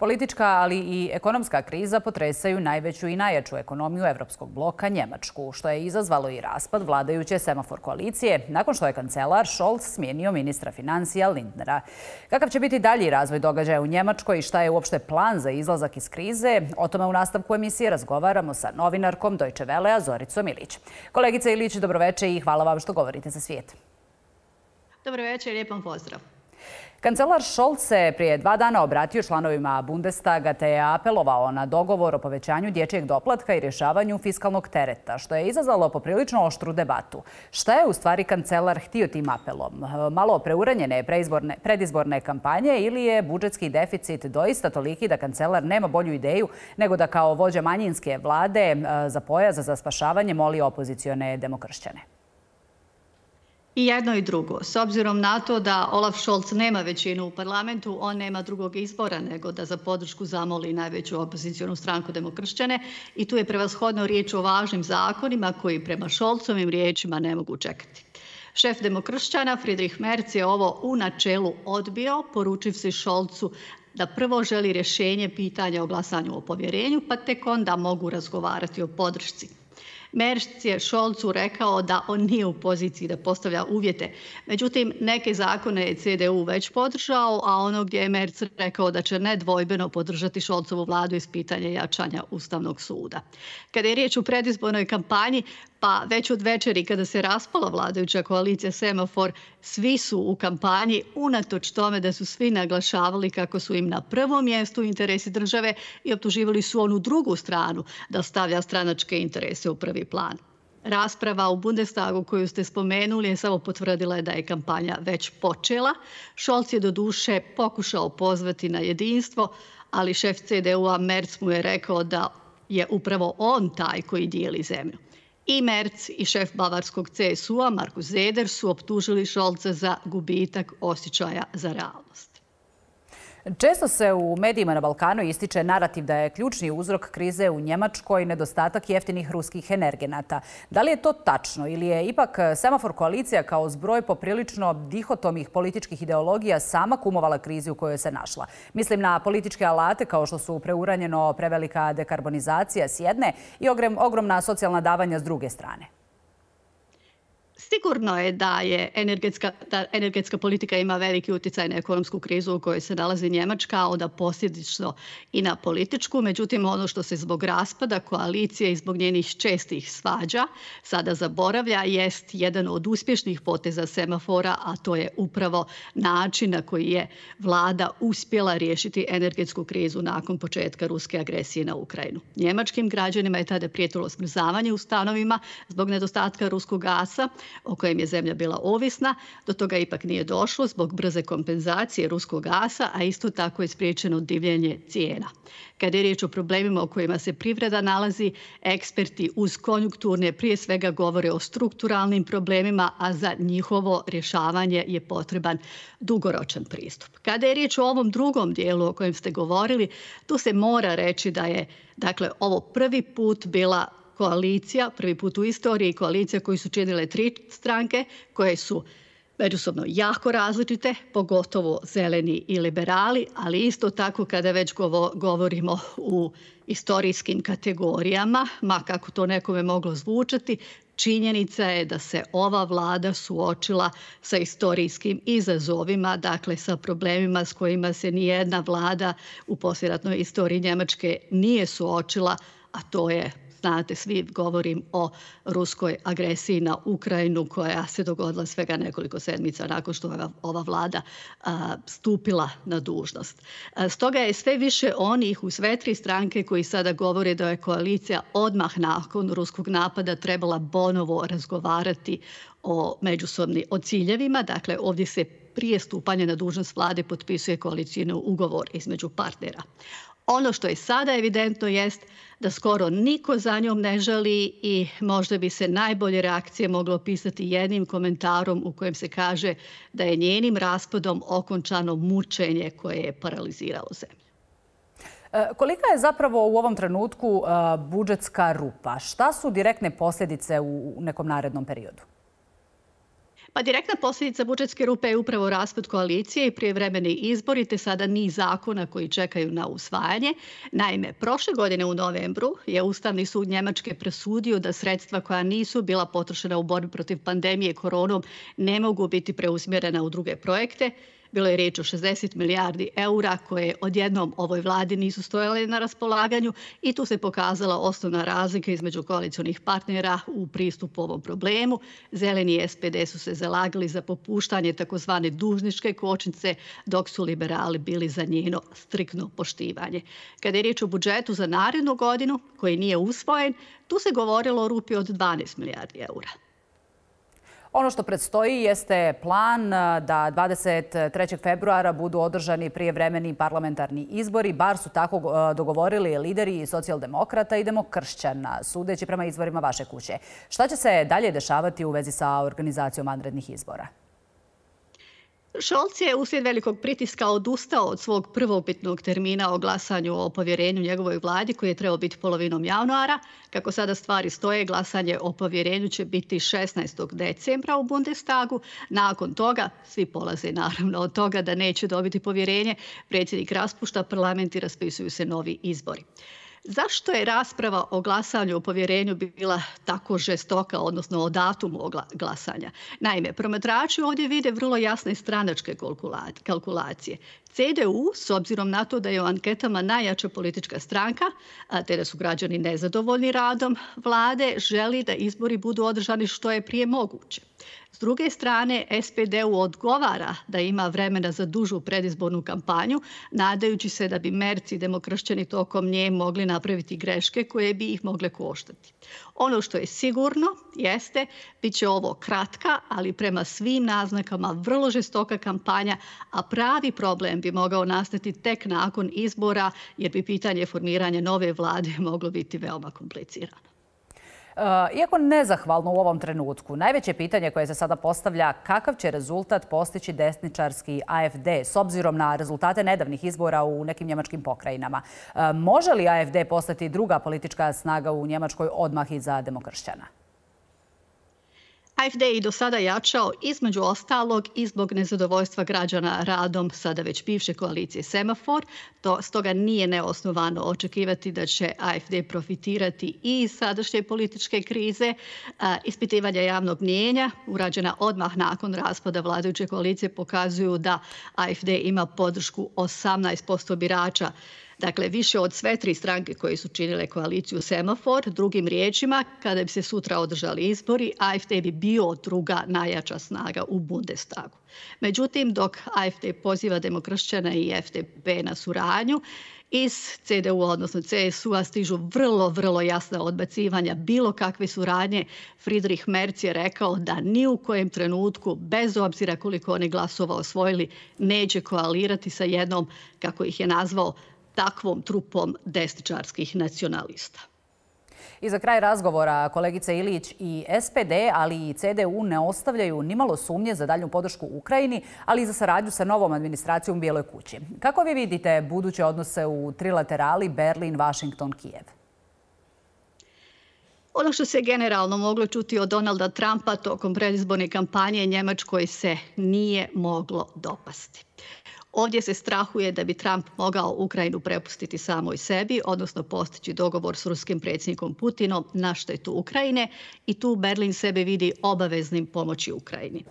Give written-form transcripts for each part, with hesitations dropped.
Politička, ali i ekonomska kriza potresaju najveću i najjaču ekonomiju evropskog bloka Njemačku, što je izazvalo i raspad vladajuće semafor koalicije nakon što je kancelar Scholz smijenio ministra financija Lindnera. Kakav će biti dalji razvoj događaja u Njemačkoj i šta je uopšte plan za izlazak iz krize? O tome u nastavku emisije razgovaramo sa novinarkom Deutsche Wellea Zoricom Ilić. Kolegice Ilić, dobroveče i hvala vam što govorite za svijet. Dobro večer, lijep vam pozdrav. Kancelar Scholz se prije 2 dana obratio članovima Bundestaga te je apelovao na dogovor o povećanju dječjeg doplatka i rješavanju fiskalnog tereta, što je izazvalo poprilično oštru debatu. Šta je u stvari kancelar htio tim apelom? Malo preuranjene predizborne kampanje ili je budžetski deficit doista toliki da kancelar nema bolju ideju nego da kao vođa manjinske vlade za pojas za spašavanje moli opozicione demokršćane? I jedno i drugo. S obzirom na to da Olaf Scholz nema većinu u parlamentu, on nema drugog izbora nego da za podršku zamoli najveću opozicijonu stranku demokršćane i tu je prevashodno riječ o važnim zakonima koji prema Scholzovim riječima ne mogu čekati. Šef demokršćana Friedrich Merz je ovo u načelu odbio, poručivši Scholzu da prvo želi rješenje pitanja o glasanju o povjerenju, pa tek onda mogu razgovarati o podršci. Merz je Scholzu rekao da on nije u poziciji da postavlja uvjete. Međutim, neke zakone je CDU već podržao, a ono gdje je Merz rekao da će nedvojbeno podržati Scholzovu vladu iz pitanja jačanja Ustavnog suda. Kada je riječ o predizbornoj kampanji, pa već od večeri kada se raspala vladajuća koalicija Semafor, svi su u kampanji unatoč tome da su svi naglašavali kako su im na prvom mjestu interesi države i optuživali su onu drugu stranu da stavlja stranačke interese u prvi plan. Rasprava u Bundestagu koju ste spomenuli je samo potvrdila da je kampanja već počela. Scholz je doduše pokušao pozvati na jedinstvo, ali šef CDU-a Merz mu je rekao da je upravo on taj koji dijeli zemlju. I Merz i šef bavarskog CSU-a Markus Söder su optužili Scholza za gubitak osjećaja za realnost. Često se u medijima na Balkanu ističe narativ da je ključni uzrok krize u Njemačkoj nedostatak jeftinih ruskih energenata. Da li je to tačno ili je ipak semafor koalicija kao zbroj poprilično dihotomih političkih ideologija sama kumovala krizi u kojoj se našla? Mislim na političke alate kao što su preuranjeno prevelika dekarbonizacija s jedne i ogromna socijalna davanja s druge strane. Sigurno je da energetska politika ima veliki utjecaj na ekonomsku krizu u kojoj se nalazi Njemačka, a onda posljedično i na političku. Međutim, ono što se zbog raspada koalicije i zbog njenih čestih svađa sada zaboravlja jest jedan od uspješnih poteza semafora, a to je upravo način na koji je vlada uspjela riješiti energetsku krizu nakon početka ruske agresije na Ukrajinu. Njemačkim građanima je tada prijetilo smrzavanje u stanovima zbog nedostatka ruskog gasa, o kojem je zemlja bila ovisna. Do toga ipak nije došlo zbog brze kompenzacije ruskog gasa, a isto tako je spriječeno divljenje cijena. Kada je riječ o problemima u kojima se privreda nalazi, eksperti uz konjunkturne prije svega govore o strukturalnim problemima, a za njihovo rješavanje je potreban dugoročan pristup. Kada je riječ o ovom drugom dijelu o kojem ste govorili, tu se mora reći da je ovo prvi put bila koalicija, prvi put u istoriji koalicija koju su činile 3 stranke koje su međusobno jako različite, pogotovo zeleni i liberali, ali isto tako kada već govorimo u istorijskim kategorijama, ma kako to nekome moglo zvučati, činjenica je da se ova vlada suočila sa istorijskim izazovima, dakle sa problemima s kojima se nijedna vlada u poslijeratnoj istoriji Njemačke nije suočila, a to je, znate, svi govorim o ruskoj agresiji na Ukrajinu koja se dogodila svega nekoliko sedmica nakon što je ova vlada stupila na dužnost. Stoga je sve više onih u sve 3 stranke koji sada govore da je koalicija odmah nakon ruskog napada trebala ponovo razgovarati o ciljevima. Dakle, ovdje se prije stupanja na dužnost vlade potpisuje koalicijni ugovor između partnera. Ono što je sada evidentno jest da skoro niko za njom ne žali i možda bi se najbolje reakcije moglo opisati jednim komentarom u kojem se kaže da je njenim raspadom okončano mučenje koje je paraliziralo zemlju. Kolika je zapravo u ovom trenutku budžetska rupa? Šta su direktne posljedice u nekom narednom periodu? Pa direktna posljedica budžetske rupe je upravo raspad koalicije i prijevremeni izbori, te sada niz zakona koji čekaju na usvajanje. Naime, prošle godine u novembru je Ustavni sud Njemačke presudio da sredstva koja nisu bila potrošena u borbi protiv pandemije koronom ne mogu biti preusmjerena u druge projekte. Bilo je riječ o 60 milijardi eura koje odjednom ovoj vladi nisu stojale na raspolaganju i tu se pokazala osnovna razlika između koalicionih partnera u pristupu ovom problemu. Zeleni i SPD su se zalagali za popuštanje takozvane dužničke kočnice, dok su liberali bili za njeno striktno poštivanje. Kada je riječ o budžetu za narednu godinu, koji nije usvojen, tu se govorilo o rupi od 12 milijardi eura. Ono što predstoji jeste plan da 23. februara budu održani prijevremeni parlamentarni izbori. Bar su tako dogovorili lideri socijaldemokrata i demokršćana, sudeći prema izvorima vaše kuće. Šta će se dalje dešavati u vezi sa organizacijom vanrednih izbora? Scholz je uslijed velikog pritiska odustao od svog prvobitnog termina o glasanju o povjerenju njegovoj vladi koji je trebao biti polovinom januara. Kako sada stvari stoje, glasanje o povjerenju će biti 16. decembra u Bundestagu. Nakon toga, svi polaze naravno od toga da neće dobiti povjerenje, predsjednik raspušta parlament i raspisuju se novi izbori. Zašto je rasprava o glasanju o povjerenju bila tako žestoka, odnosno o datumu glasanja? Naime, promatrači ovdje vide vrlo jasne stranačke kalkulacije. CDU, s obzirom na to da je u anketama najjača politička stranka, te da su građani nezadovoljni radom vlade, želi da izbori budu održani što je prije moguće. S druge strane, SPD-u odgovara da ima vremena za dužu predizbornu kampanju, nadajući se da bi Merz i demokršćani tokom nje mogli napraviti greške koje bi ih mogle koštati. Ono što je sigurno jeste, bit će ovo kratka, ali prema svim naznakama vrlo žestoka kampanja, a pravi problem bi mogao nastati tek nakon izbora, jer bi pitanje formiranja nove vlade moglo biti veoma komplicirano. Iako nezahvalno u ovom trenutku, najveće pitanje koje se sada postavlja kakav će rezultat postići desničarski AfD s obzirom na rezultate nedavnih izbora u nekim njemačkim pokrajinama. Može li AfD postati druga politička snaga u Njemačkoj odmah iza demokršćana? AfD je i do sada jačao između ostalog i zbog nezadovoljstva građana radom sada već bivše koalicije Semafor. Stoga nije neosnovano očekivati da će AfD profitirati i iz sadašnje političke krize. Ispitivanja javnog mnijenja urađena odmah nakon raspada vladajuće koalicije pokazuju da AfD ima podršku 18% birača. Dakle, više od sve tri stranke koje su činile koaliciju Semafor. Drugim riječima, kada bi se sutra održali izbori, AfD bi bio druga najjača snaga u Bundestagu. Međutim, dok AfD poziva demokršćana i FDP na suradnju, iz CDU, odnosno CSU-a, stižu vrlo jasna odbacivanja bilo kakve suradnje. Friedrich Merz je rekao da ni u kojem trenutku, bez obzira koliko oni glasova osvojili, neće koalirati sa jednom, kako ih je nazvao, takvom trupom desničarskih nacionalista. I za kraj razgovora, kolegice Ilić, i SPD, ali i CDU ne ostavljaju nimalo sumnje za daljnju podršku Ukrajini, ali i za saradnju sa novom administracijom u Bijeloj kući. Kako vi vidite buduće odnose u trilaterali Berlin, Washington, Kijev? Ono što se generalno moglo čuti od Donalda Trumpa tokom predizborne kampanje Njemačkoj se nije moglo dopasti. Ovdje se strahuje da bi Trump mogao Ukrajinu prepustiti samoj sebi, odnosno postići dogovor s ruskim predsjednikom Putinom na štetu Ukrajine i tu Berlin sebe vidi obaveznim pomoći Ukrajini.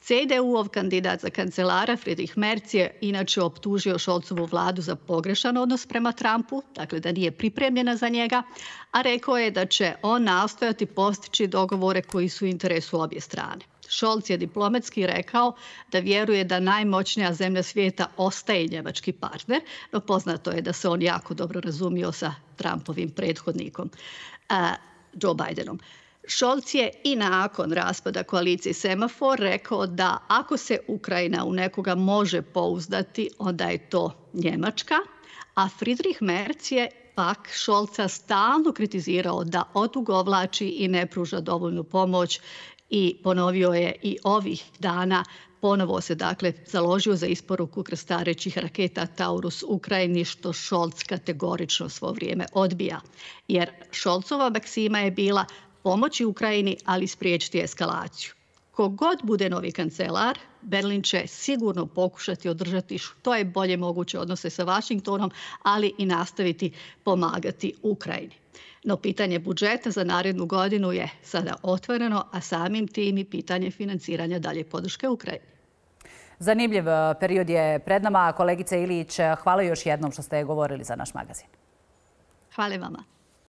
CDU-ov kandidat za kancelara Friedrich Merz je inače optužio Scholzovu vladu za pogrešan odnos prema Trumpu, dakle da nije pripremljena za njega, a rekao je da će on nastojati postići dogovore koji su u interesu obje strane. Scholz je diplomatski rekao da vjeruje da najmoćnija zemlja svijeta ostaje njemački partner, no poznato je da se on jako dobro razumio sa Trumpovim prethodnikom Joe Bidenom. Scholz je i nakon raspada koalicije Semafor rekao da ako se Ukrajina u nekoga može pouzdati, onda je to Njemačka, a Friedrich Merz je pak Scholza stalno kritizirao da odugovlači i ne pruža dovoljnu pomoć i ponovio je i ovih dana, ponovo se dakle založio za isporuku krstarećih raketa Taurus Ukrajini, što Scholz kategorično svo vrijeme odbija. Jer Scholzova maksima je bila pomoći Ukrajini, ali spriječiti eskalaciju. kogod bude novi kancelar, Berlin će sigurno pokušati održati što je bolje moguće odnose sa Vašingtonom, ali i nastaviti pomagati Ukrajini. No pitanje budžeta za narednu godinu je sada otvoreno, a samim tim i pitanje financiranja dalje podrške Ukrajini. Zanimljiv period je pred nama. Kolegice Ilić, hvala još jednom što ste govorili za naš magazin. Hvala vama.